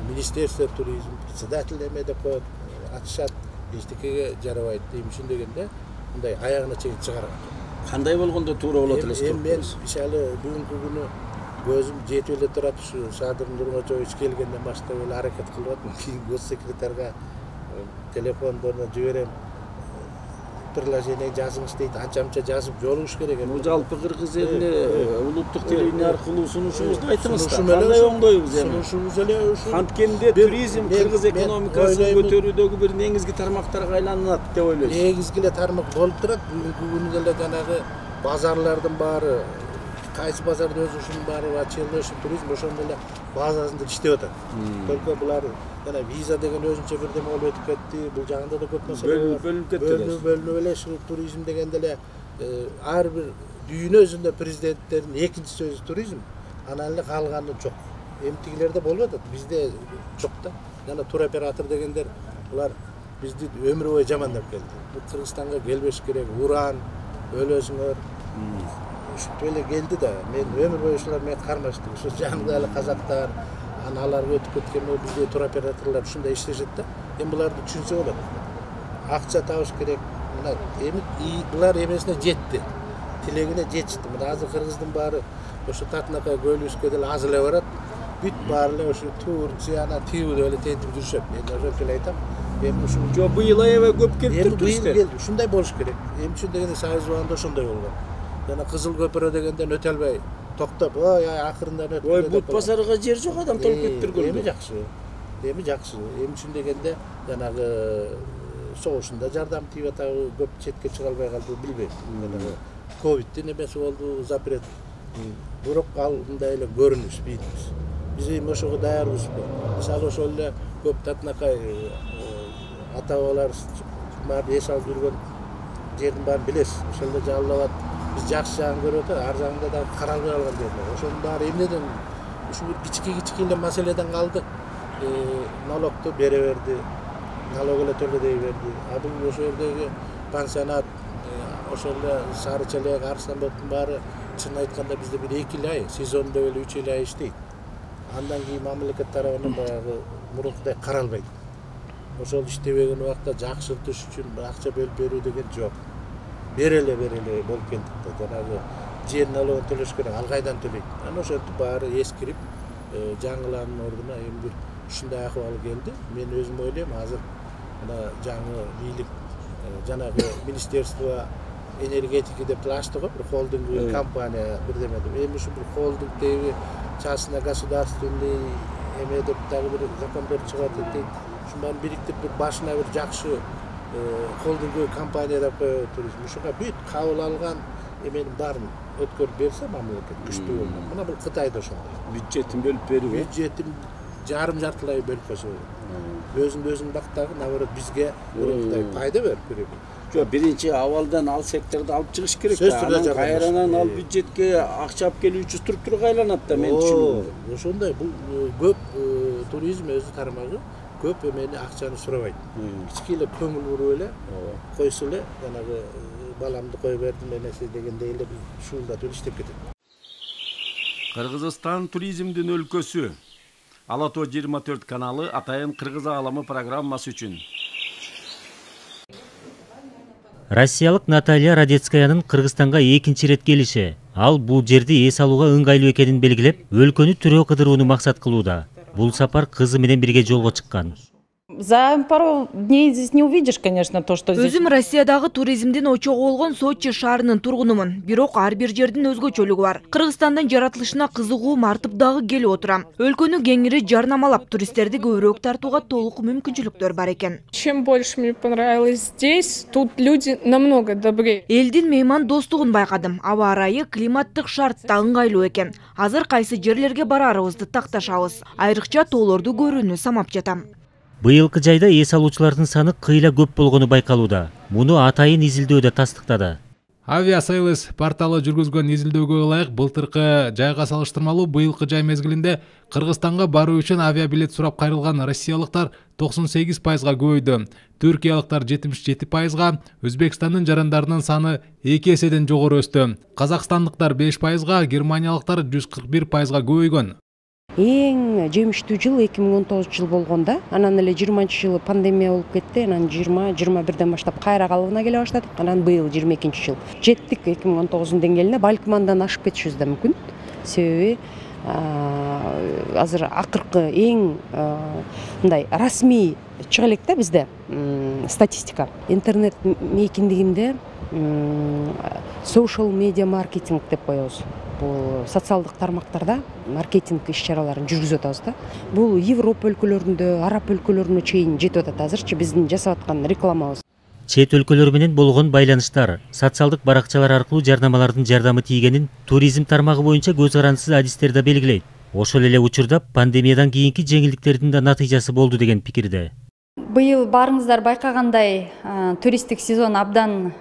Министерство туризм, председатель эме деп коет, атышат, эчтекеге жарабайт. Эми ушун дегенде мындай аягына чейин чыгарат. Кандай болгондо туура болот элес? Эми мен мисалы бүгүнкү күнү көзүм жетип эле турат, ушу Садыр Нургожоевич келгенден баштап эле аракет кылып атам. Кийин госсекретарга телефондорун жиберем. Приложение жазыңыз дейт, анча-мынча жазып жолугуш керек. Бул жалпы кыргыз элине улуттук телевидение аркылуу сунушуңузду айтыңыз да. Кандай оңдойбуз эми? Сунушубуз эле ушу. Анткенде туризм кыргыз экономикасын көтөрүүдөгү бир негизги тармактарга айланат деп ойлойсуз. Негизги эле тармак болуп турат. Бүгүнкү күнү деле жанагы базарлардын баары, кайсы базардын өзү ушунун баары ачылды, ушу туризм ошондой эле базасында иштеп атат. Только булар жана виза деген өзүнчө бирдеме болуп өтүп кетти. Бул жагында да көп маселе бөлүнүп кетти. Бөлүнүп эле ушу туризм дегенде эле ар бир дүйнөсүндө президенттердин экинчи сөзү туризм, анан эле калганы жок. Эмтигилерде болуп атат, бизде жок да. Жана туроператор дегендер булар бизди өмүр бою жамандап келди. Бул Кыргызстанга келбеш керек, уран, өлөсүңөр. Ушинтип эле келди да. Мен өмүр бою ушулар менен кармаштым. Ушу жанында эле казактар, аналарга өтүп кеткен бизде туроператорлор ушундай иштешет да. Эми буларды түшүнсө болот. Акча табыш керек. Мына эми булар эмесине жетти. Тилегине жетишти. Мына азыр кыргыздын баары ошо Татынакай көлүбүзгө деле аз эле барат. Бүт баары эле ошо Турция, Тивде эле тентип жүрүшөт. Мен ошентип эле айтам. Эми ушу жок быйыл аябай көп келиптир туристтер. Быйыл келди. Ушундай болуш керек. Эми үчүн дегенде Союз убагында ошондой болгон. Жана Кызыл көпүрө дегенден өтө албай токтоп, ой акырындан өтүп. Ой, бут базарга жер жок, адам толуп кетиптир көлгө. Эми жакшы. Эми үчүн дегенде жанагы согушунда жардам тийип атабы, көп четке чыга албай калды, билбейм. Жанагы ковидтин эмеси болду, запрет. Бирок ал мындай эле көрүнүш бийбиз. Биз эми ошого даярбызбы? Мисалы ошол эле көп Татынакай ата-бабалар баары эс алып жүргөн жердин баарын билесиз. Ошол эле жалалабад биз жакшы жагын көрүп атабыз, ар жагында да каралбай калган жерлер. Ошонун баары эмнеден ушу кички эле маселеден калды. Налогду бере берди, налог эле төлөдөй берди. А бул ошол жердеги пансионат, ошол эле Сары Челек, Арсанбектин баары чын айтканда бизде бир 2 ай, сезондо эле 3 ай иштейт. Андан кийин мамлекет тарабынан баягы мурункудай каралбайт. Ошол иштебеген убакта жакшыртыш үчүн акча бөлүп берүү деген жок. Береле болуп келдик да. Жанагы жер налогун төлөш керек, ал кайдан төлөйт? Анан ошентип баары эскирип, жаңыланын ордуна эми бир ушундай акыбал келди. Мен өзүм ойлойм, азыр мына жаңы бийлик жанагы министерство энергетики деп ачты го, бир холдинг компания бирдеме деп. Эми ушу бир холдингдеги частно государственный эме деп дагы бир закондор чыгат дейт. Ушун баарын бириктирип бир башына бир жакшы холдинг компания деп коюп туризм. Ушуга бүт кабыл алган эменин баарын өткөрүп берсе мамлекет күчтүү болот. Мына бул Кытайда ошондой. Бюджетин бөлүп берүү. Бюджетин жарым-жартылай бөлүп койсо болот. Өзүн бактагы, наоборот, бизге мурункудай пайда берип берет. Жок, биринчи абалдан ал секторду алып чыгыш керек да. Анан кайрадан ал бюджетке акча алып келүү үчүн структурага айланат да, мен түшүнөм. Ошондой бул көп туризм өзү тармагы көп эмени акчаны сурабайт. Кички эле көңүл буруп эле койсо эле жанагы баламды кое бердим эмеси дегендей эле шуулдатып иштеп кетет. Кыргызстан туризмдин өлкөсү. Ала Тоо 24 каналы Атайын Кыргыз аламы программасы үчүн. Россиялык Наталья Радецкаянын Кыргызстанга экинчи рет келиши. Ал бул жерди эс алууга ыңгайлуу экенин белгилеп, өлкөнү түрөө кыдырууну максат кылууда. Бул сапар кызы менен бирге жолго чыккан. За пару дней здесь не увидишь, конечно, то, что здесь. Өзүм Россиядагы туризмдин очогу болгон Сочи шаарынын тургунумун. Бирок ар бир жердин өзгөчөлүгү бар. Кыргызстандын жаратылышына кызыгуу артып дагы келип отурам. Өлкөнү кеңири жарнамалап, туристтерди көбүрөөк тартууга толук мүмкүнчүлүктөр бар экен. Чем больше мне понравилось здесь, тут люди намного добрее. Элдин мейман достугун байкадым. Аба ырайы, климаттык шарт да ыңгайлуу экен. Азыр кайсы жерлерге барарыбызды такташабыз. Айрыкча тоолорду көрүүнү самап жатам. Быйылкы жайда эс алуучулардын саны кыйла көп болгону байкалууда. Муну Атайын изилдөөдө тастыктады. Aviasales порталы жүргүзгөн изилдөөгө ылайык былтыркы жайга салыштырмалуу быйылкы жай мезгилинде Кыргызстанга баруу үчүн авиабилет сурап кайрылган россиялыктар 98%га көбөйдү. Түркиялыктар 77%га, Өзбекстандын жарандарынын саны 2 эседен жогору өстү. Казакстандыктар 5%га, германиялыктар 141%га көбөйгөн. Эң жемиштүү жыл 2019 жыл болгонда, анан эле 20-жылы пандемия болуп кетти, анан 20-21ден баштап кайра калыбына келе баштадык, анан быйыл 22-жыл. Жеттик 2019 деңгээлине, балким андан ашып кетишибиз да мүмкүн. Себеби азыр акыркы эң мындай расмий чыга элек да бизде статистика. Интернет мейкиндигинде social media маркетинг деп коебуз. Бул социалдык тармактарда маркетинг иш-чараларын жүргүзүп атабыз да. Бул Европа өлкөлөрүндө, Араб өлкөлөрүнө чейин жетип атат азырчы биздин жасап аткан рекламабыз. Чет өлкөлөр менен болгон байланыштар, социалдык баракчалар аркылуу жарнамалардын жардамы тийгенин туризм тармагы боюнча көз карандысыз адистер да белгилейт. Ошол эле учурда пандемиядан кийинки жеңилдиктердин да натыйжасы болду деген пикирде. Быйыл баарыңыздар байкагандай туристтик сезон абдан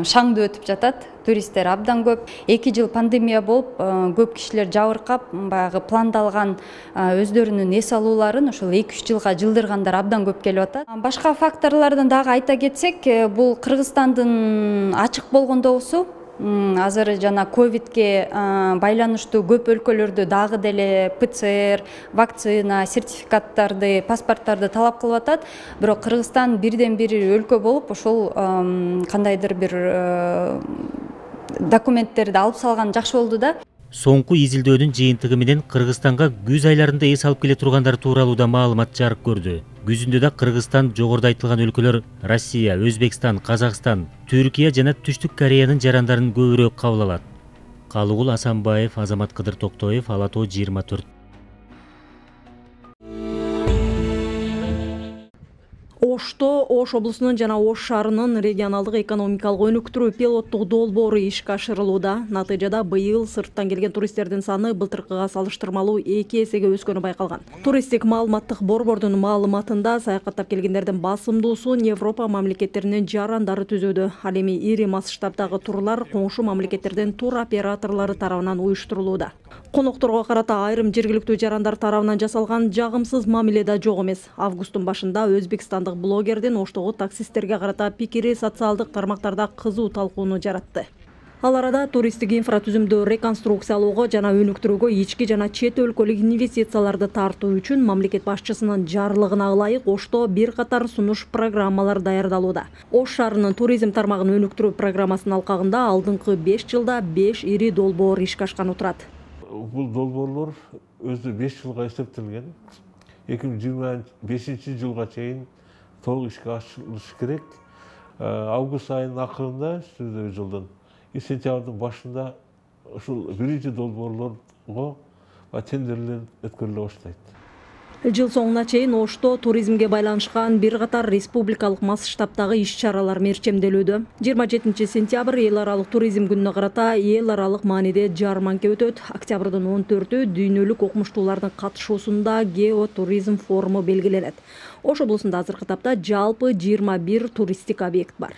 шаңдуу өтүп жатат. Туристтер абдан көп. 2 жыл пандемия болуп, көп кишилер жабыркап, баягы пландалган өздөрүнүн эс алууларын ошол 2-3 жылга жылдыргандар абдан көп келип атат. Башка факторлордон дагы айта кетсек, бул Кыргызстандын ачык болгондугусу. Азыр жана ковидке байланыштуу көп өлкөлөрдө дагы деле ПЦР, вакцина, сертификаттарды, паспорттарды талап кылып атат. Бирок Кыргызстан бирден бир өлкө болуп, ошол кандайдыр бир документтерди алып салган жакшы болду да. Соңку изилдөөнүн жыйынтыгы менен Кыргызстанга күз айларында эс алып келе тургандар тууралуу да маалымат жарык көрдү. Күзүндө да Кыргызстан жогоруда айтылган өлкөлөр Россия, Өзбекстан, Казакстан, Түркия жана Түштүк Кореянын жарандарын көбүрөөк кабыл алат. Калыгул Асанбаев, Азамат Кыдыр Токтоев, Ала Тоо 24. Ошто Ош облусунун жана Ош шаарынын регионалдык экономикалык өнүктүрүү пилоттук долбоору ишке ашырылууда. Натыйжада быйыл сырттан келген туристтердин саны былтыркыга салыштырмалуу 2 эсеге өскөнү байкалган. Туристтик маалыматтык борбордун маалыматында саякаттап келгендердин басымдуусун Европа мамлекеттеринин жарандары түзүүдө. Ал эми ири масштабдагы турлар коңшу мамлекеттердин тур операторлору тарабынан уюштурулууда. Конокторго карата айрым жергиликтүү жарандар тарабынан жасалган жагымсыз мамиле да жок эмес. Августтун башында өзбекстандык блогердин Оштогу таксисттерге карата пикири социалдык тармактарда кызуу талкууну жаратты. Ал арада туристтик инфратүзүмдү реконструкциялоого жана өнүктүрүүгө ички жана чет өлкөлүк инвестицияларды тартуу үчүн мамлекет башчысынын жарлыгына ылайык Ошто бир катар сунуш программалар даярдалууда. Ош шаарынын туризм тармагын өнүктүрүү программасынын алкагында алдыңкы 5 жылда 5 ири долбоор ишке ашкан турат. Бул долбоорлор өзү 5 жылга эсептелген. 2025 жылга чейин толук ишке ашырылышы керек. Август айынын акырында жылдын сентябрдын башында ушул биринчи долбоорлорго тендерлер өткөрүлө баштайт. Жыл соңуна чейин Ошто туризмге байланышкан бир катар республикалык масштабдагы иш-чаралар мерчемделүүдө. 27 сентябрь эл аралык туризм күнүнө карата эл аралык мааниде жарманка өтөт. Октябрдын 14-ү дүйнөлүк окумуштуулардын катышуусунда геотуризм форуму белгиленет. Ош облусунда азыркы тапта жалпы 21 туристтик объект бар.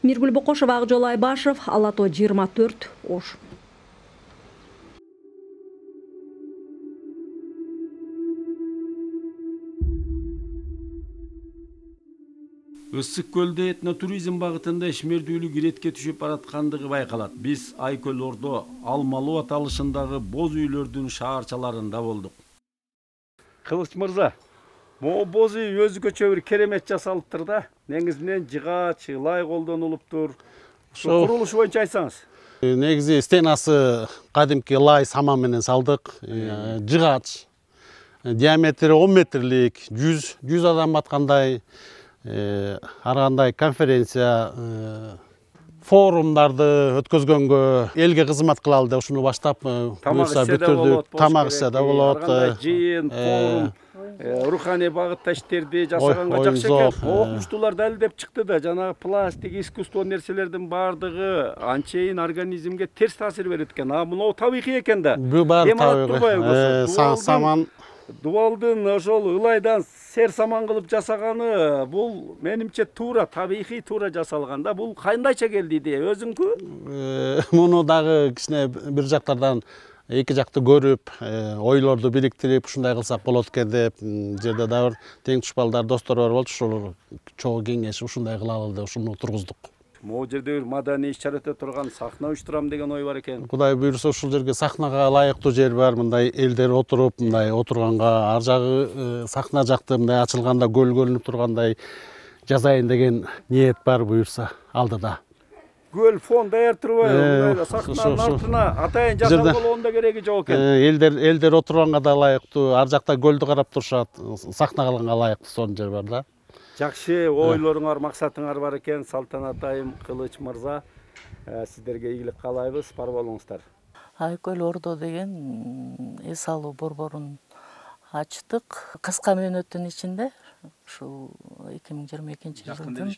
Миргүл Бокошова, Акжол Айбашев, Ала Тоо 24, Ош. Ысык көлдө этнотуризм багытында ишмердүүлүк иретке түшүп бараткандыгы байкалат. Биз Айкөл Ордо Алмалуу аталышындагы боз үйлөрдүн шаарчаларында болдук. Кылыч мырза, могу боз үй өзгөчө бир керемет жасалыптыр да. Негизинен жыгач, лай колдонулуптур. Ошо курулуш боюнча айтсаңыз. Негизи стенасы кадимки лай саман менен салдык. Жыгач диаметри 10 метрлик, 100 адам баткандай. Ар кандай конференция, форумдарды өткөзгөнгө элге кызмат кылалы деп ушуну баштап буюрса бүтүрдүк. Тамак ише да болот. Жыйын, форум, руханий багытта иштерди жасаганга жакшы экен. Окумуштуулар далилдеп чыкты да, жанагы пластик, искусство нерселердин баардыгы анчейин организмге терс таасир берет экен. Мынау табигый экен да. Бул баары табигый. Саман Дубалдын ошол ылайдан сер саман кылып жасаганы бул менимче туура, табигый туура жасалган да. Бул кандайча келди идея, өзүңкү? Муну дагы кичине бир жактардан эки жакты көрүп, ойлорду бириктирип, ушундай кылсак болот экен деп, жерде дагы тең тушпалдар, достор бар болчу, ошол чогуу кеңешип ушундай кылалы деп ушуну тургуздук. Могу жерде бир маданий иш-чара өтө турган сахна уюштурам деген ой бар экен. Кудай буйрса ушул жерге сахнага ылайыктуу жер бар, мындай элдер отуруп, мындай отурганга, ар жагы сахна жакты мындай ачылганда көл көрүнүп тургандай жасайын деген ниет бар буйрса алдыда. Көл фон даяр турбайбы? Сахнанын артына атайын жасалган да кереги жок экен. Элдер отурганга да ылайыктуу, ар жакта көлдү карап турушат, сахна кылганга ылайыктуу сонун жер бар да. Жакшы ойлоруңар, максатыңар бар экен. Салтанат айым, Кылыч мырза, сиздерге ийгилик каалайбыз, бар болуңуздар. Айкөл Ордо деген эс алуу борборун ачтык. Кыска мөөнөттүн ичинде ушул 2022 жылдын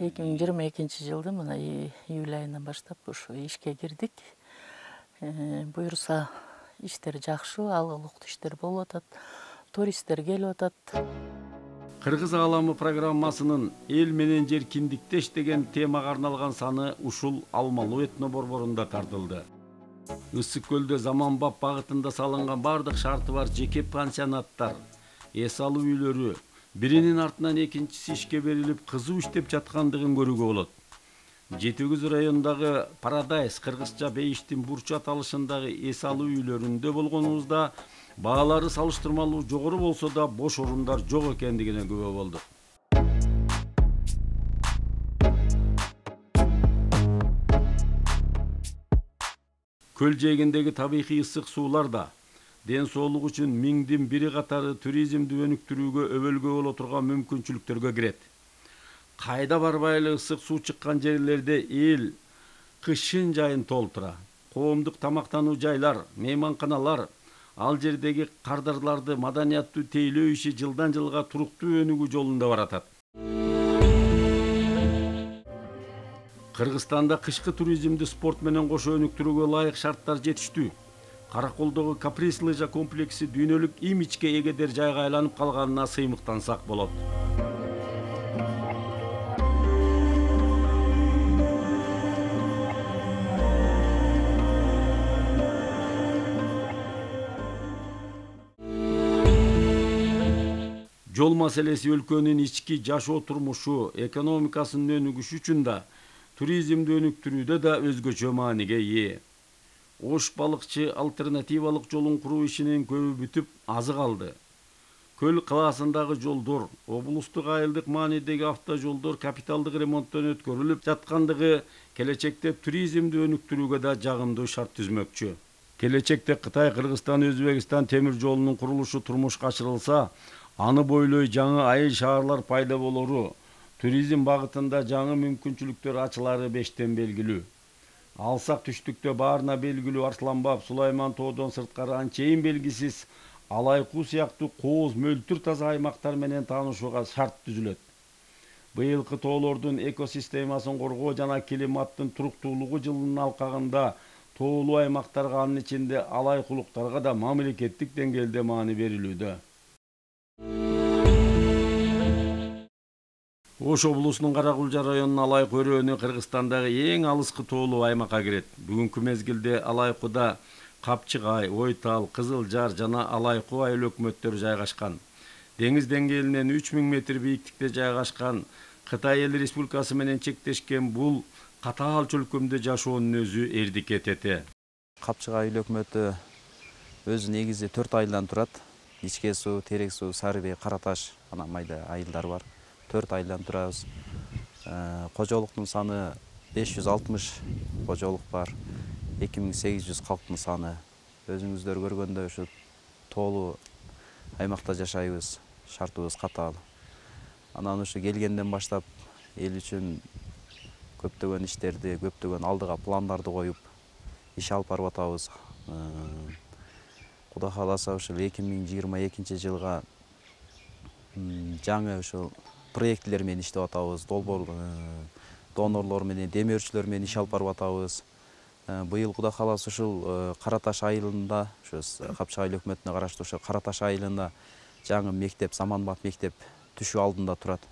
2022 жылдын мына июль айынан баштап ушу ишке кирдик. Буюрса иштер жакшы, алгылыктуу иштер болуп атат. Туристтер келип атат. Кыргыз ааламы программасынын эл менен жер киндиктеш деген темага арналган саны ушул Алмалуу этно борборунда тартылды. Ысык көлдө заманбап багытында салынган бардык шарты бар жеке пансионаттар, эс алуу үйлөрү биринин артынан экинчиси ишке берилип кызуу иштеп жаткандыгын көрүүгө болот. Жети Күз районундагы Парадайс кыргызча Бейиштин бурчу аталышындагы эс алуу үйлөрүндө болгонубузда баалары салыштырмалуу жогору болсо да бош орундар жок экендигине күбө болдук. Көл жээгиндеги табигый ысык суулар да ден соолук үчүн миңдин бири катары туризмди өнүктүрүүгө өбөлгө боло турган мүмкүнчүлүктөргө кирет. Кайда барбай эле ысык суу чыккан жерлерде эл кышын жайын толтура. Коомдук тамактануу жайлар, мейманканалар, ал жердеги кардарларды маданияттуу тейлөө иши жылдан жылга туруктуу өнүгүү жолунда баратат. Кыргызстанда кышкы туризмди спорт менен кошо өнүктүрүүгө ылайык шарттар жетиштүү. Караколдогу каприз лыжа комплекси дүйнөлүк имиджге эгедер жайга айланып калганына сыймыктансак болот. Жол маселеси өлкөнүн ички жашоо турмушу, экономикасынын өнүгүшү үчүн да, туризмди өнүктүрүүдө да өзгөчө мааниге ээ. Ош балыкчы альтернативалык жолун куруу ишинин көбү бүтүп, азы калды. Көл калаасындагы жолдор, облустук айылдык маанидеги автожолдор капиталдык ремонттон өткөрүлүп жаткандыгы келечекте туризмди өнүктүрүүгө да жагымдуу шарт түзмөкчү. Келечекте Кытай, Кыргызстан, Өзбекстан темир жолунун курулушу турмушка ашырылса, аны бойлой жаңы айыл шаарлар пайда болору, туризм багытында жаңы мүмкүнчүлүктөр ачылары бештен белгилүү. Алсак түштүктө баарына белгилүү Арсланбап, Сулайман тоодон сырткары анчейин белгисиз Алайкуу сыяктуу кооз мөлтүр таза аймактар менен таанышууга шарт түзүлөт. Быйылкы тоолордун экосистемасын коргоо жана климаттын туруктуулугу жылынын алкагында тоолуу аймактарга, анын ичинде алайкулуктарга да мамлекеттик деңгээлде маани берилүүдө. Ош облусунун Каракулжа районунун Алайкуу өрөөнү Кыргызстандагы эң алыскы тоолуу аймакка кирет. Бүгүнкү мезгилде Алайкууда Капчыгай, Ойтал, Кызылжар жана Алайкуу айыл өкмөттөрү жайгашкан. Деңиз деңгээлинен 3000 метр бийиктикте жайгашкан Кытай Эл Республикасы менен чектешкен бул катаал чөлкөмдө жашоонун өзү эрдик этете. Капчыгай айыл өкмөтү өзү негизи 4 айылдан турат. Ичке суу, Терек суу, Сарыбей, Караташ анан майда айылдар бар. 4 айылдан турабыз. Кожолуктун саны 560 кожолук бар. 2800 калктын саны. Өзүңүздөр көргөндөй ушу тоолуу аймакта жашайбыз. Шартыбыз катаал. Анан ушу келгенден баштап эл үчүн көптөгөн иштерди, көптөгөн алдыга пландарды коюп иш алып барып атабыз. Кудай кааласа ушул 2022 жылга жаңы ушул проектлер менен иштеп атабыз. Долбоор донорлор менен, демөөрчүлөр менен иш алып барып атабыз. Быйыл Кудай кааласа ушул Караташ айылында, ушу Капчыгай айыл өкмөтүнө караштуу ушул Караташ айылында жаңы мектеп, заманбап мектеп түшүү алдында турат.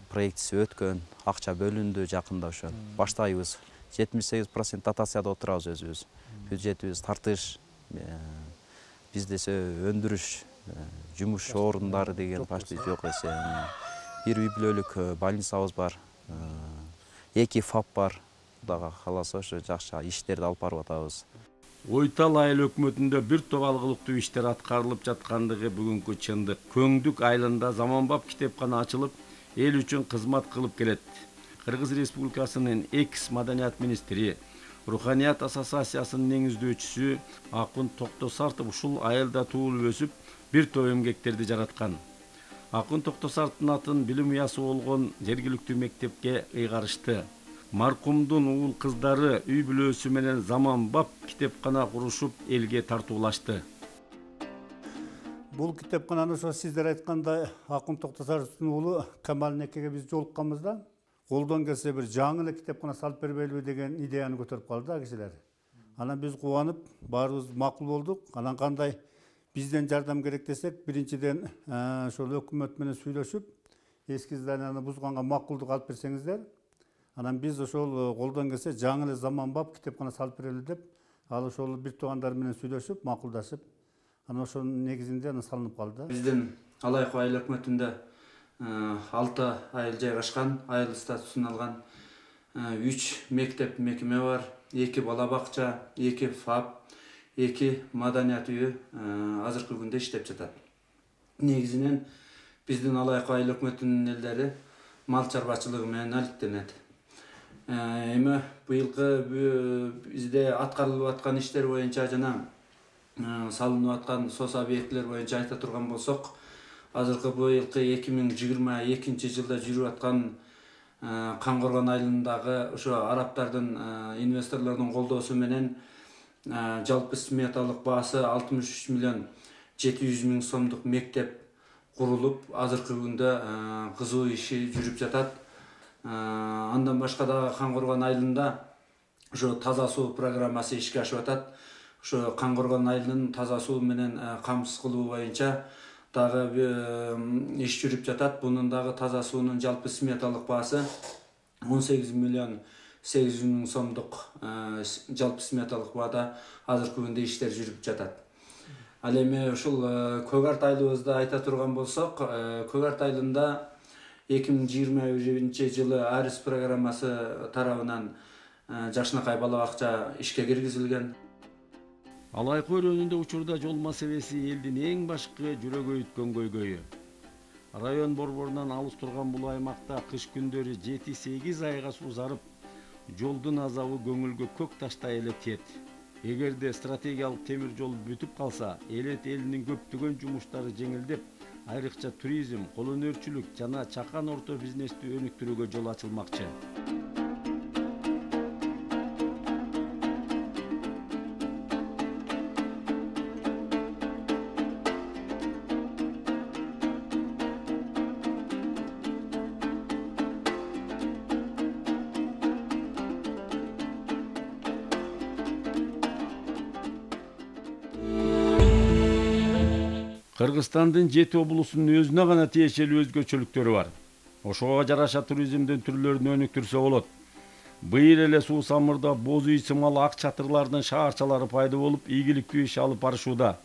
Проектиси өткөн, акча бөлүндү жакында ошо. Баштайбыз. 78% дотацияда отурабыз өзүбүз. Бюджетибиз тартыш, бизде өндүрүш, жумуш орундары деген почти жок эсе. Бир үй бүлөлүк больницабыз бар. 2 ФАП бар. Кудайга кааласа ошо жакшы иштерди алып барып атабыз. Ойтал айыл өкмөтүндө бир топ алгылыктуу иштер аткарылып жаткандыгы бүгүнкү чындык. Көңдүк айылында заманбап китепкана ачылып, эл үчүн кызмат кылып келет. Кыргыз Республикасынын экс-маданият министри, Руханият ассоциациясынын негиздөөчүсү Акын Токтосартов ушул айылда туулуп өсүп, бир топ эмгектерди жараткан. Акын Токтосартовдун атын билим уясы болгон жергиликтүү мектепке ыйгарышты. Маркумдун уул кыздары үй бүлөсү менен заманбап китепкана курушуп, элге тартуулашты. Бул китепкананы ошо сиздер айткандай Акын Токтосартовдун уулу Камалнекеге биз жолукканбыз да, колдон келсе бир жаңы эле китепкана салып бербейлиби деген идеяны көтөрүп калды да кишилер. Анан биз кубанып, баарыбыз макул болдук. Анан кандай бизден жардам керек десек, биринчиден ошол өкмөт менен сүйлөшүп, эски зданияны бузганга макулдук алып берсеңиздер, анан биз ошол колдон келсе жаңы эле заманбап китепкана салып берели деп, ал ошол бир туугандар менен сүйлөшүп, макулдашып, анан ошонун негизинде анан салынып калды. Биздин Алайкы айыл өкмөтүндө 6 айыл жайгашкан, айыл статусун алган 3 мектеп мекеме бар, 2 бала бакча, 2 ФАП, 2 маданият үйү азыркы күндө иштеп жатат. Негизинен биздин Алайкы айыл өкмөтүнүн элдери мал чарбачылыгы менен алектенет. Эми быйылкы бизде аткарылып аткан иштер боюнча жана салынып аткан сос объектилер боюнча айта турган болсок, азыркы быйылкы 2022 жылда жүрүп аткан Кангоргон айылындагы ошо араптардын инвесторлордун колдоосу менен жалпы сметалык баасы 63 миллион 700 миң сомдук мектеп курулуп, азыркы күндө кызуу иши жүрүп жатат. Андан башка дагы Кангоргон айылында ошо таза суу программасы ишке ашып атат. Ошо Кангоргон айылынын таза суу менен камсыз кылуу боюнча дагы иш жүрүп жатат. Бунун дагы таза суунун жалпы сметалык баасы 18 миллион 800 миң сомдук жалпы сметалык баада азыркы күндө иштер жүрүп жатат. Ал эми ушул Көк Арт айылыбызда айта турган болсок, Көк Арт айылында 2021 жылы Арис программасы тарабынан жакшынакай бала бакча ишке киргизилген. Алайкы өрөөнүндө учурда жол маселеси элдин эң башкы жүрөк өйүткөн көйгөйү. Район борборунан алыс турган бул аймакта кыш күндөрү 7-8 айга сузарып, жолдун азабы көңүлгө көк таштай эле тиет. Эгерде стратегиялык темир жол бүтүп калса, элет элинин көптөгөн жумуштары жеңилдеп, айрыкча туризм, кол өнөрчүлүк жана чакан орто бизнести өнүктүрүүгө жол ачылмакчы. Кыргызстандын 7 облусунун өзүнө гана тиешелүү өзгөчөлүктөрү бар. Ошого жараша туризмдин түрлөрүн өнүктүрсө болот. Быйыл эле суу самырда боз үй сымал ак чатырлардын шаарчалары пайда болуп, ийгиликтүү иш алып барышууда.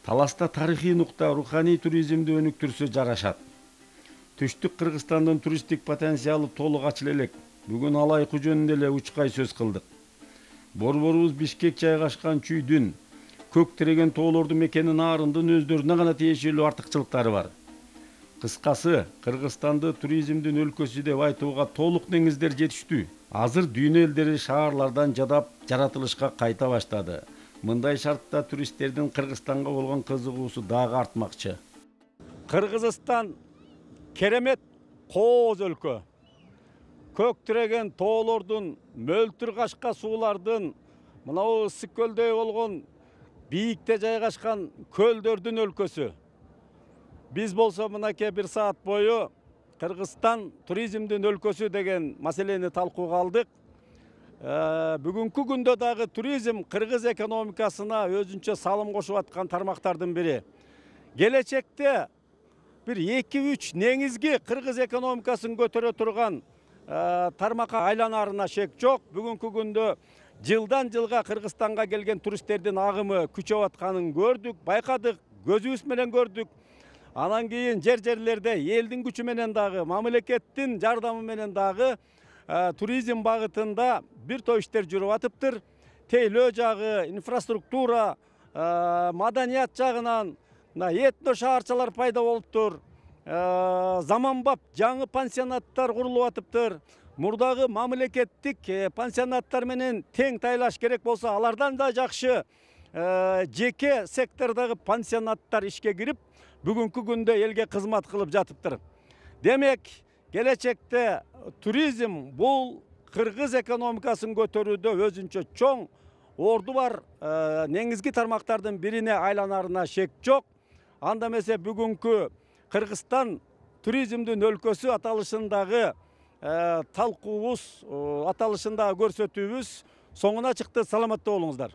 Таласта тарыхый нукта руханий туризмди өнүктүрсө жарашат. Түштүк Кыргызстандын туристтик потенциалы толук ачыла элек. Бүгүн Алайкы жөнүндө эле учкай сөз кылдык. Борборубуз Бишкек жайгашкан чүйдүн көк тиреген тоолорду мекенин аарындын өздөрүнө гана тиешелүү артыкчылыктары бар. Кыскасы, Кыргызстанды туризмдин өлкөсү деп айтууга толук негиздер жетиштүү. Азыр дүйнө элдери шаарлардан жадап жаратылышка кайта баштады. Мындай шартта туристтердин Кыргызстанга болгон кызыгуусу дагы артмакчы. Кыргызстан керемет кооз өлкө. Көк тиреген тоолордун, мөлтүр кашка суулардын, мынау ысык көлдөй болгон бийикте жайгашкан көлдөрдүн өлкөсү. Биз болсо мынакей 1 саат бою Кыргызстан туризмдин өлкөсү деген маселени талкууга алдык. Бүгүнкү күндө дагы туризм кыргыз экономикасына өзүнчө салым кошуп аткан тармактардын бири. Келечекте бир 2-3 негизги кыргыз экономикасын көтөрө турган тармакка айланарына шек жок. Бүгүнкү күндө жылдан жылга Кыргызстанга келген туристтердин агымы күчөп атканын көрдүк, байкадык, көзүбүз менен көрдүк. Анан кийин жерлерде элдин күчү менен дагы, мамлекеттин жардамы менен дагы туризм багытында бир топ иштер жүрүп атыптыр. Тейлөө жагы, инфраструктура, маданият жагынан этно шаарчалар пайда болуптур. Заманбап жаңы пансионаттар курулуп атыптыр. Мурдагы мамлекеттик пансионаттар менен тең тайлаш керек болсо, алардан да жакшы жеке сектордагы пансионаттар ишке кирип, бүгүнкү күндө элге кызмат кылып жатыптыр. Демек, келечекте туризм бул кыргыз экономикасын көтөрүүдө өзүнчө чоң орду бар негизги тармактардын бирине айланарына шек жок. Анда эмесе бүгүнкү Кыргызстан туризмдин өлкөсү аталышындагы талкуубуз, аталышындагы көрсөтүүбүз соңуна чыкты. Саламатта болуңуздар.